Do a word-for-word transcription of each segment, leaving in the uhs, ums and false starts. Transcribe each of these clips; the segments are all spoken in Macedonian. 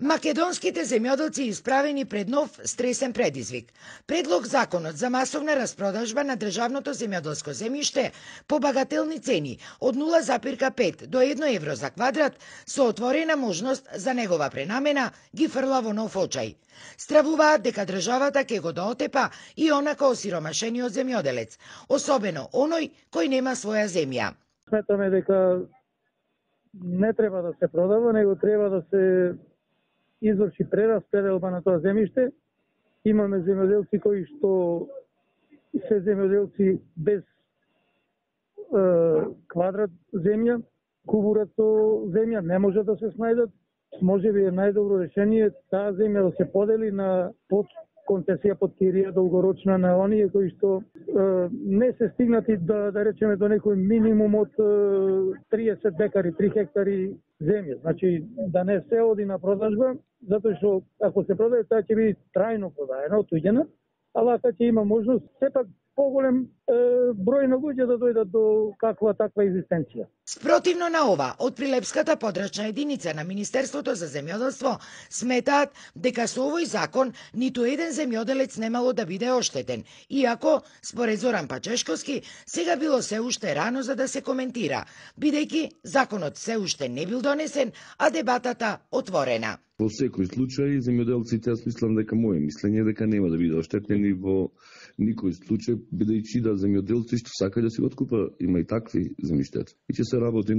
Македонските земјоделци исправени пред нов стресен предизвик. Предлог законот за масовна распродажба на државното земјоделско земјиште по багателни цени од нула запирка пет до едно евро за квадрат со отворена можност за негова пренамена ги фрла во нов очај. Стравуваат дека државата ќе го доотепа и онака осиромашениот земјоделец, особено оној кој нема своја земја. Сметаме дека не треба да се продава, него треба да се изврши прераспределба на тоа земјиште. Имаме земјоделци кои што се земјоделци без е, квадрат земја, кубурат со земја, не може да се снајдат. Може би е најдобро решение таа земја да се подели на под концесија под кирија долгорочна на оние кои што е, не се стигнати да, да речеме до некој минимум од е, триесет декари, три хектари земја. Значи да не се оди на продажба, затоа што ако се продаде, таа ќе биде трајно продаена, отуѓена, ала ќе има можност сепак поголем е, број на луѓе да дојдат до каква таква екзистенција. Спротивно на ова, од Прилепската подрачна единица на Министерството за земјоделство сметаат дека со овој закон ниту еден земјоделец немало да биде оштетен, иако, според Зоран Пачешковски, сега било се уште рано за да се коментира, бидејќи законот се уште не бил донесен, а дебатата отворена. Во секој случај, земјоделците, јас мислам дека моје мислење дека нема да биде оштетени во никој случај, бидејќи да земјоделци што сака да си откупа, има и такви земјиштета. И ќе се работи,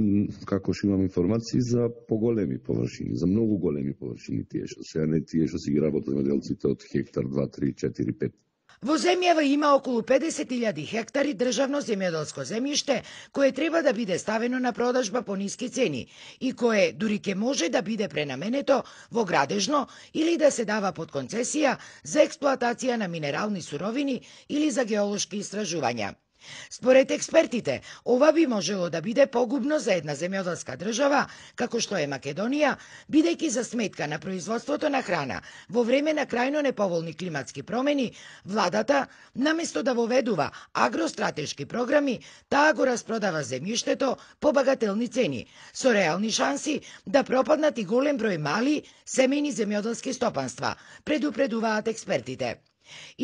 како што имам информации, за поголеми површини, за многу големи површини тие што се, не тие што си ги работат земјоделците од хектар, два, три, четири, пет. Во земјава има околу педесет илјади хектари државно земјоделско земјиште кое треба да биде ставено на продажба по ниски цени и кое дури ќе може да биде пренаменето во градежно или да се дава под концесија за експлоатација на минерални суровини или за геолошки истражувања. Според експертите, ова би можело да биде погубно за една земјоделска држава, како што е Македонија, бидејќи за сметка на производството на храна во време на крајно неповолни климатски промени, владата, наместо да воведува агростратешки програми, таа го распродава земјиштето по багателни цени, со реални шанси да пропаднат и голем број мали семејни земјоделски стопанства, предупредуваат експертите.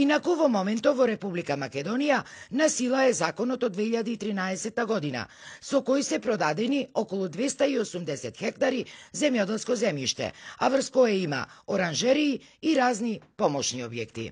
Инаку во моментов во Република Македонија на сила е законот од две илјади и тринаесетта година, со кој се продадени околу двеста и осумдесет хектари земјоделско земјиште, а врз кое има оранжерии и разни помошни објекти.